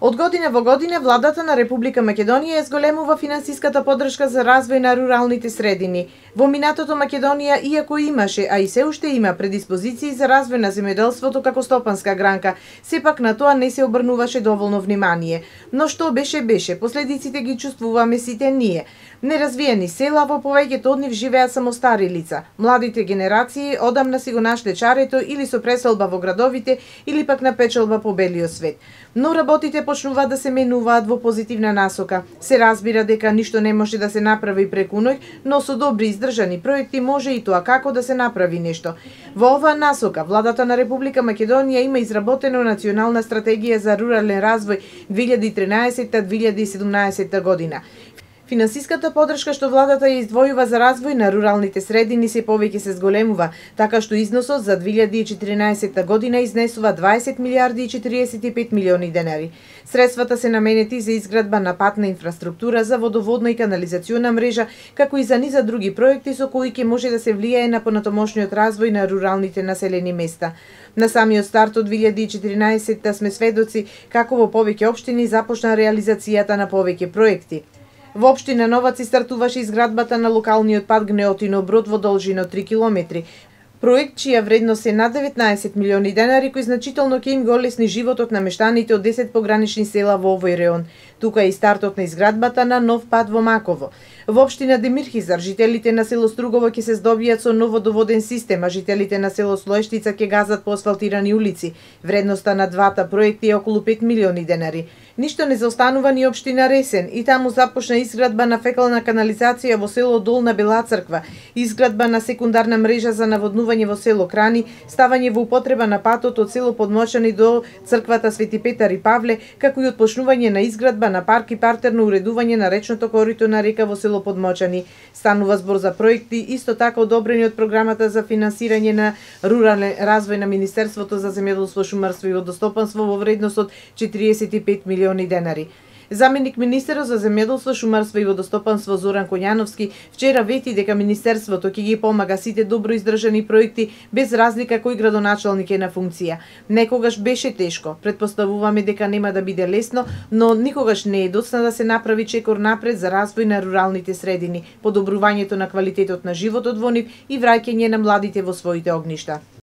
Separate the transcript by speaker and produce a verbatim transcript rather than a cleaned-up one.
Speaker 1: Од година во година владата на Република Македонија зголемува финансиската поддршка за развој на руралните средини. Во минатото Македонија, иако имаше, а и се уште има предиспозиции за развој на земјоделството како стопанска гранка, сепак на тоа не се обрнуваше доволно внимание. Но што беше беше, последиците ги чувствуваме сите ние. Неразвиени села, во повеќето од нив живеат само стари лица. Младите генерации одамна си го нашле чарето или со преселба во градовите, или пак на печалба по белиот свет. Но работите почнуваат да се менуваат во позитивна насока. Се разбира дека ништо не може да се направи преку ноќ, но со добри издржани проекти може и тоа како да се направи нешто. Во оваа насока, владата на Република Македонија има изработена национална стратегија за рурален развој две илјади и тринаесетта до две илјади и седумнаесетта година. Финансиската поддршка што владата ја издвојува за развој на руралните средини се повеќе се зголемува, така што износот за две илјади и четиринаесетта година изнесува дваесет милијарди и четириесет и пет милиони денари. Средствата се наменети за изградба на патна инфраструктура, за водоводна и канализациона мрежа, како и за низа други проекти со кои ќе може да се влијае на понатомошниот развој на руралните населени места. На самиот старт од две илјади и четиринаесетта сме сведоци како во повеќе општини започна реализацијата на повеќе проекти. Во општина Новаци стартуваше изградбата на локалниот пат Гнеотино Брод во должина од три километри. Проект чија вредност е над деветнаесет милиони денари, кој значително ќе им го олесни животот на мештаните од десет погранични села во овој реон. Тука е и стартот на изградбата на нов пат во Маково. Во општина Демирхизар жителите на село Стругово ќе се здобијат со нов водоводен систем, а жителите на село Слоештица ќе газат по асфалтирани улици. Вредноста на двата проекти е околу пет милиони денари. Ништо не заостанува ни општина Ресен, и таму започна изградба на фекална канализација во село Долна Бела Црква, изградба на секундарна мрежа за наводнување во село Крани, ставање во употреба на патот од село Подмочани до црквата Свети Петар и Павле, како и отпочнување на изградба на парк и партерно уредување на речното корито на река во село Подмочани. Станува збор за проекти исто така одобрени од програмата за финансирање на рурален развој на Министерството за земјоделство, шумарство и водостопанство во вредност од четириесет и пет милиони денари. Заменик министерот за земјоделство, шумарство и водостопанство Зоран Коњановски вчера вети дека министерството ќе ги помага сите добро издржани проекти без разлика кој градоначалник е на функција. Некогаш беше тешко, претпоставуваме дека нема да биде лесно, но никогаш не е доцна да се направи чекор напред за развој на руралните средини, подобрувањето на квалитетот на животот во нив и враќање на младите во своите огништа.